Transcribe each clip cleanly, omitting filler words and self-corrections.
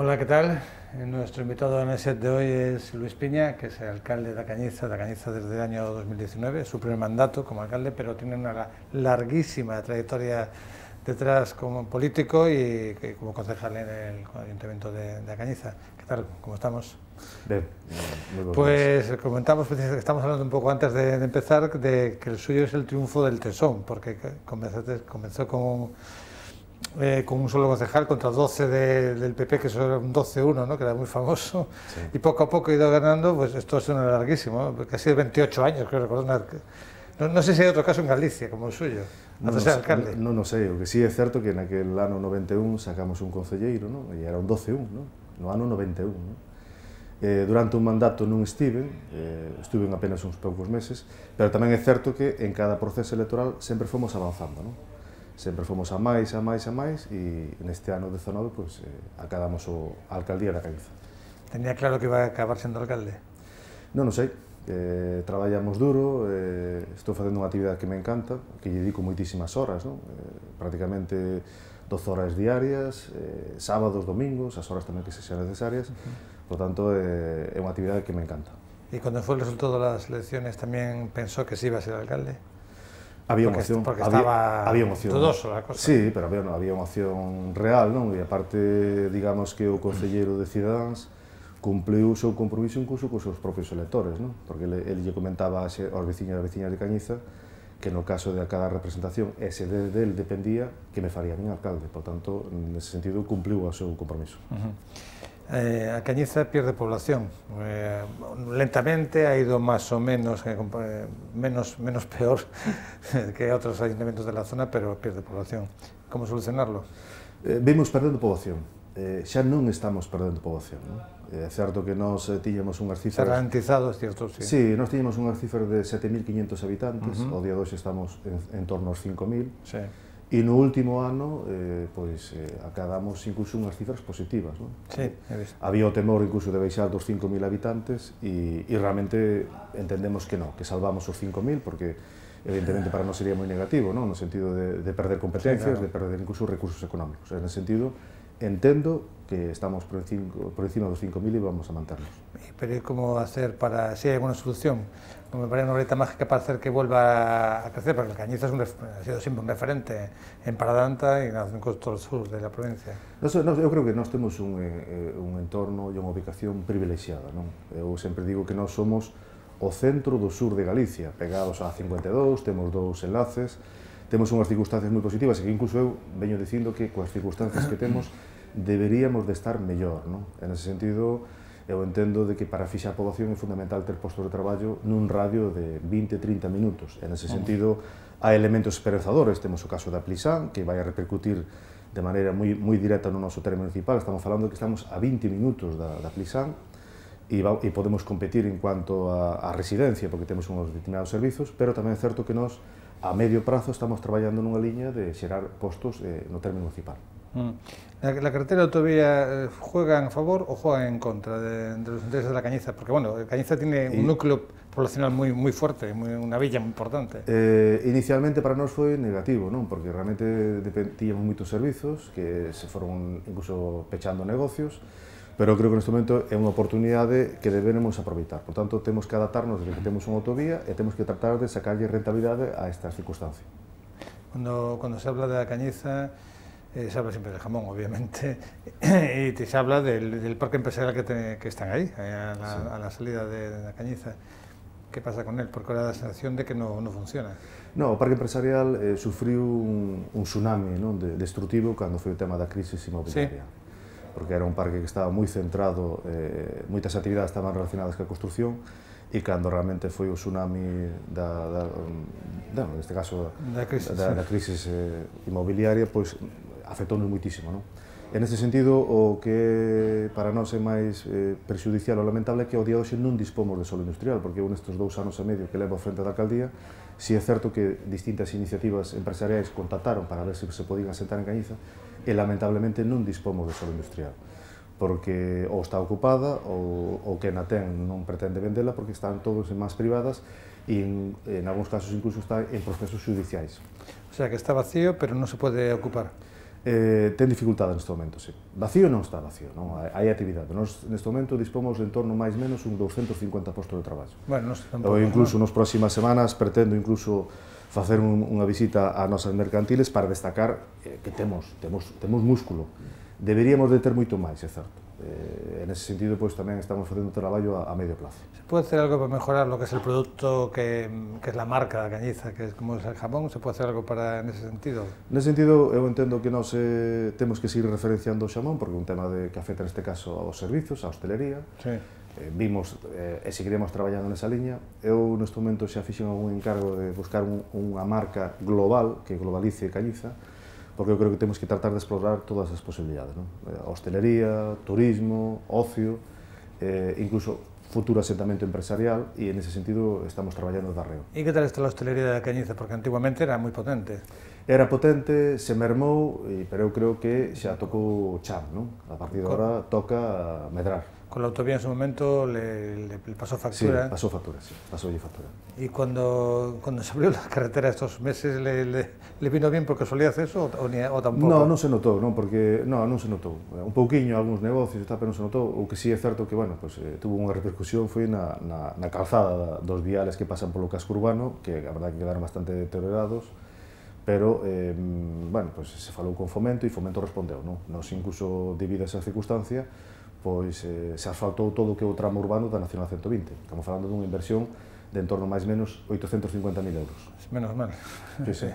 Hola, ¿qué tal? Nuestro invitado en el set de hoy es Luis Piña, que es el alcalde de Cañiza desde el año 2019, su primer mandato como alcalde, pero tiene una larguísima trayectoria detrás como político y como concejal en el Ayuntamiento de Cañiza. ¿Qué tal? ¿Cómo estamos? Bien, muy buenos días. Pues comentamos, estamos hablando un poco antes de empezar, de que el suyo es el triunfo del Tesón, porque comenzó con un solo concejal contra 12 del PP, que eso era un 12-1, ¿no? Que era muy famoso, Sí. y poco a poco ha ido ganando. Pues esto es una larguísimo, ¿no? Casi 28 años, creo recordar. No sé si hay otro caso en Galicia como el suyo, antes de ser alcalde. Non sei, o que sí é certo que naquel ano 91 sacamos un concelleiro, non? E era un 12-1, non? No ano 91, non? Durante un mandato non estuve apenas uns poucos meses, pero tamén é certo que en cada proceso electoral sempre fomos avanzando, non? Sempre fomos a máis, e neste ano 19 pues, acabamos a alcaldía da Cañiza. Tenía claro que iba a acabar sendo alcalde? Non sei, traballamos duro, estou facendo unha actividade que me encanta, que lle dedico moitísimas horas, non? Prácticamente 12 horas diarias, sábados, domingos, as horas tamén que sexan necesarias, por tanto, é unha actividade que me encanta. ¿Y cuando fue el resultado de las elecciones tamén pensó que sí iba a ser alcalde? Había unha opción, porque estaba dudoso a cosa. Sí, pero había unha opción real, non? E aparte, digamos que o concelleiro de Cidadáns cumpliu o seu compromiso incluso cos seus propios electores, non? Porque ele lle comentaba aos veciños e veciñas de Cañiza que no caso de cada representación ese del dependía que me faría a min alcalde, por tanto, nese sentido, cumpliu o seu compromiso. A Cañiza pierde población, lentamente, ha ido más o menos, menos peor que otros ayuntamientos de la zona, pero pierde población. ¿Cómo solucionarlo? Vimos perdendo poboación, xa non estamos perdendo poboación, non? É certo que nós tiñamos unhas cifras... Se ha ralentizado, é certo, sí. Sí, nós tiñamos unhas cifras de 7.500 habitantes, ao día de hoxe estamos en torno aos 5.000, sí. E no último ano, acabamos incluso unhas cifras positivas, non? Sí, he visto. Había o temor incluso de baixar dos 5.000 habitantes e realmente entendemos que non, que salvamos os 5.000 porque evidentemente para nós sería moi negativo, non? No sentido de perder competencias, sí, claro, de perder incluso recursos económicos. En ese sentido, entendo que estamos por encima dos 5.000 e vamos a manternos. Pero ¿cómo hacer para, si hay alguna solución? Me parece una varita mágica para hacer que vuelva a crecer, porque Cañiza ha sido siempre un referente en Paradanta y en todo el sur de la provincia. Eu creo que nós temos un entorno e unha ubicación privilexiada, non? Eu sempre digo que nós somos o centro do sur de Galicia, pegados a 52, temos dous enlaces, temos unhas circunstancias moi positivas e que incluso eu veño dicindo que coas circunstancias que temos deberíamos de estar mellor, non? En ese sentido, eu entendo de que para fixar a poboación é fundamental ter postos de traballo nun radio de 20-30 minutos. En ese sentido, hai elementos esperanzadores. Temos o caso da Plisán, que vai a repercutir de maneira moi directa no noso terreno municipal. Estamos falando que estamos a 20 minutos da Plisán e podemos competir en cuanto a residencia, porque temos uns determinados servizos, pero tamén é certo que nós, a medio prazo, estamos traballando nunha liña de xerar postos no terreno municipal. ¿La carretera de autovía juega a favor o juega en contra de los intereses de la Cañiza? Porque bueno, Cañiza tiene un núcleo poblacional muy fuerte, una villa muy importante. Inicialmente para nós foi negativo, non? Porque realmente tiñamos moitos servizos que se foron incluso pechando negocios, pero creo que neste momento é unha oportunidade que debemos aproveitar. Por tanto, temos que adaptarnos desde que temos unha autovía e temos que tratar de sacarlle rentabilidade a esta circunstancia. Cuando se habla de la Cañiza, se habla siempre del jamón, obviamente, y se habla del parque empresarial que están ahí, a la salida de la Cañiza. ¿Qué pasa con él? Porque ahora da a sensación de que no funciona. No, o parque empresarial sufriu un tsunami, non, destructivo cando foi o tema da crisis inmobiliaria. Sí. Porque era un parque que estaba moi centrado, moitas actividades estaban relacionadas ca construcción, e cando realmente foi o tsunami neste caso da crisis inmobiliaria, pois afectounos moitísimo, non? En ese sentido, o que para nós é máis perxudicial ou lamentable é que ao día de hoxe non dispomos de solo industrial, porque eu nestes 2 anos e medio que levo a frente da alcaldía, si é certo que distintas iniciativas empresariais contactaron para ver se podían asentar en Cañiza, e lamentablemente non dispomos de solo industrial, porque ou está ocupada ou quen a ten non pretende vendela porque están todos en mans privadas e en algúns casos incluso está en procesos judiciais. O sea que está vacío, pero non se pode ocupar. Ten dificultade neste momento, sí. Vacío non está vacío, non? Hai actividade. Nos, neste momento, dispomos de en torno máis menos un 250 postos de traballo. Bueno, nos tampouco, Incluso nas próximas semanas pretendo incluso facer unha visita ás nosas mercantiles para destacar que temos músculo. Deberíamos de ter moito máis, é certo. En ese sentido, pois, tamén estamos facendo traballo a medio plazo. ¿Se puede hacer algo para mejorar lo que es el producto que es la marca da Cañiza, que es como es el jamón? ¿Se puede hacer algo para en ese sentido? Nese sentido, eu entendo que nós temos que seguir referenciando o xamón, porque é un tema que afecta neste caso aos servizos, á hostelería. Sí. Vimos e seguiremos traballando nesa liña. Eu, neste momento, xa fixen algún encargo de buscar unha marca global que globalice Cañiza, porque eu creo que temos que tratar de explorar todas as posibilidades, non? Hostelería, turismo, ocio, incluso futuro asentamento empresarial, e en ese sentido estamos traballando de arreo. ¿Y qué tal está la hostelería de Cañiza? Porque antiguamente era moi potente. Era potente, se mermou, pero eu creo que xa tocou cham, non? A partir de agora toca medrar. Con la autovía en su momento le pasó factura. Sí, pasó factura, sí, pasoulle factura. ¿Y cuando se abrió la carretera estos meses le vino bien porque solía hacer eso o tampoco? Non se notou, non, porque non se notou. Un pouquiño, algúns negocios, pero non se notou. O que sí é certo que, bueno, pues, tuvo unha repercusión foi na calzada dos viales que pasan polo casco urbano, que a verdade que quedaron bastante deteriorados, pero, bueno, pues, se falou con Fomento e Fomento respondeu, non? Nos, incluso, debido a esa circunstancia, pois se asfaltou todo o que é o tramo urbano da Nacional 120. Estamos falando dunha inversión de en torno máis menos 850.000 euros. Menos mal. Sí, sí.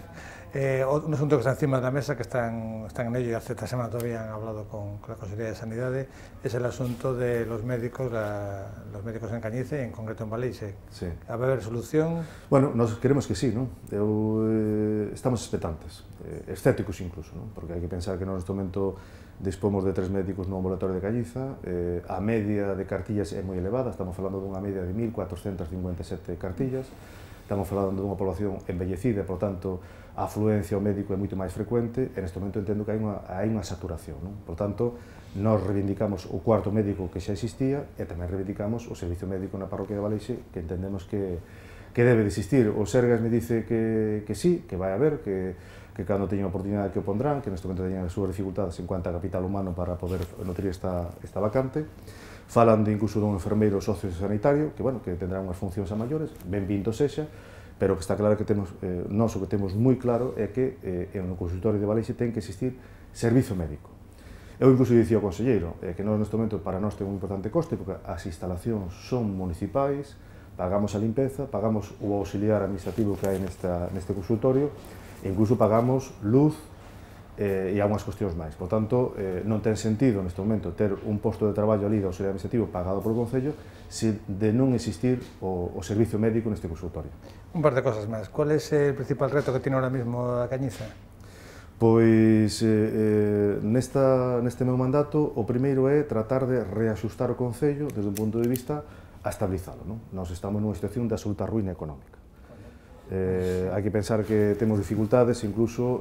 Un asunto que está encima de la mesa, que están en ello y hace esta semana todavía han hablado con la Consejería de Sanidad, es el asunto de los médicos en Cañiza y en concreto en Baleixe. Sí. ¿Va a haber solución? Bueno, nos queremos que sí, non? Estamos expectantes, escépticos incluso, non? Porque hai que pensar que neste momento dispomos de 3 médicos no ambulatorio de Cañiza, a media de cartillas é moi elevada, estamos falando dunha media de 1.457 cartillas, estamos falando dunha población envellecida, por tanto, a afluencia ao médico é moito máis frecuente, e neste momento entendo que hai unha saturación, non? Por tanto, nós reivindicamos o cuarto médico que xa existía e tamén reivindicamos o servicio médico na parroquia de Baleixe, que entendemos que debe de existir. O Sergas me dice que sí, que vai haber, que cando teña a oportunidade que o pondrán, que neste momento teñan as súas dificultades en cuanto a capital humano para poder nutrir esta vacante. Falan de incluso dun enfermeiro sociosanitario, que, bueno, que tendrá unhas funcións a maiores, benvindo sexa, pero que está claro que temos, nós o que temos moi claro é que no consultorio de Baleixe ten que existir servizo médico. Eu incluso dicía ao conselleiro que nós neste momento para nós ten un importante coste, porque as instalacións son municipais, pagamos a limpeza, pagamos o auxiliar administrativo que hai neste consultorio, e incluso pagamos luz e algunhas cuestións máis. Por tanto, non ten sentido neste momento ter un posto de traballo ali de auxiliar administrativo pagado polo Concello se de non existir o servicio médico neste consultorio. Un par de cosas máis. ¿Cuál es el principal reto que tiene ahora mismo a Cañiza? Pois, neste meu mandato, o primeiro é tratar de reaxustar o Concello desde un punto de vista a estabilizalo, non? Nós estamos nunha situación de absoluta ruína económica. Hai que pensar que temos dificultades, incluso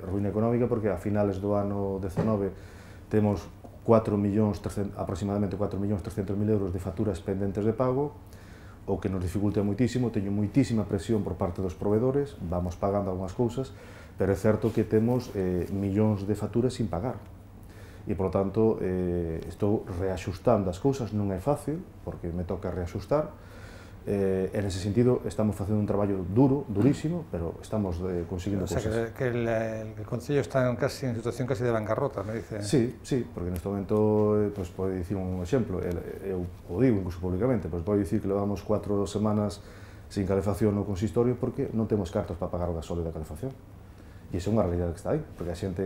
ruína económica, porque a finales do ano 19 temos aproximadamente 4.300.000 euros de facturas pendentes de pago, o que nos dificulta moitísimo, teño moitísima presión por parte dos proveedores, vamos pagando algunhas cousas, pero é certo que temos millóns de facturas sin pagar. E, por tanto, estou reaxustando as cousas, non é fácil, porque me toca reaxustar, e, nese sentido, estamos facendo un traballo duro, durísimo, pero estamos conseguindo cousas. O sea, que el Concello está en situación casi de bancarrota, me dice. Sí, porque neste momento, pues, pode dicir un exemplo, eu o digo incluso públicamente, pues, pode dicir que levamos 4 semanas sin calefacción no consistorio porque non temos cartos para pagar o gasóleo da calefacción. E iso é unha realidade que está aí, porque a xente,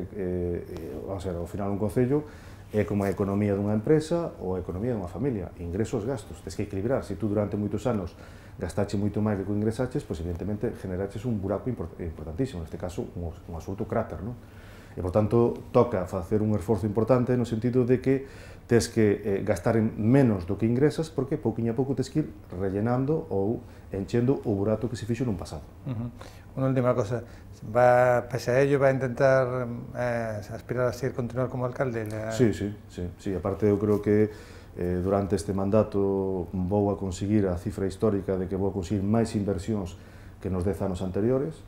vamos a ver, ao final un concello é como a economía dunha empresa ou a economía dunha familia, ingresos, gastos, tens que equilibrar. Se tú durante moitos anos gastache moito máis do que ingresaches, pois evidentemente generaches un buraco importantísimo, neste caso un absoluto cráter, non? E, por tanto, toca facer un esforzo importante no sentido de que tes que gastar menos do que ingresas, porque pouquinho a pouco tes que ir rellenando ou enchendo o burato que se fixo nun pasado. Unha última cosa, pese a ello, va a intentar aspirar a continuar como alcalde? Sí, aparte eu creo que durante este mandato vou a conseguir a cifra histórica de que vou a conseguir máis inversións que nos 10 anos anteriores.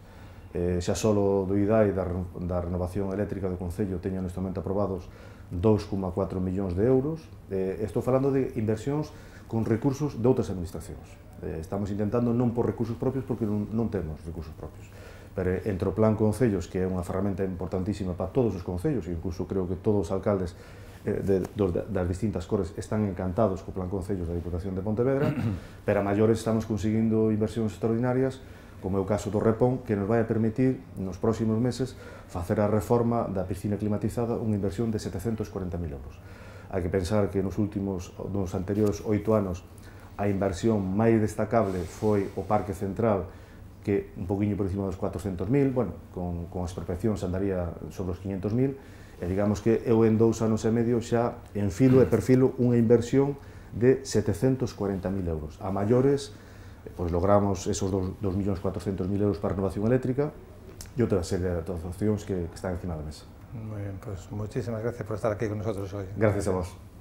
xa solo do IDAI da renovación eléctrica do Concello teño neste momento aprobados 2,4 millóns de euros. Estou falando de inversións con recursos de outras administracións. Estamos intentando non por recursos propios porque non temos recursos propios. Pero entre o Plan Concellos, que é unha ferramenta importantísima para todos os concellos, e incluso creo que todos os alcaldes das distintas cores están encantados co Plan Concellos da Diputación de Pontevedra, pero a maiores estamos conseguindo inversións extraordinarias, como é o caso do Repón, que nos vai a permitir, nos próximos meses, facer a reforma da piscina climatizada, unha inversión de 740.000 euros. Hai que pensar que nos anteriores 8 anos, a inversión máis destacable foi o Parque Central, que un poquinho por encima dos 400.000, bueno, con as expropiacións andaría sobre os 500.000, e digamos que eu en 2 anos e medio xa enfilo e perfilo unha inversión de 740.000 euros. A maiores, pois logramos esos 2.400.000 euros para a renovación eléctrica e outra serie de actuacións que están encima da mesa. Muy bien, pues muchísimas gracias por estar aquí con nosotros hoy. Gracias a vos.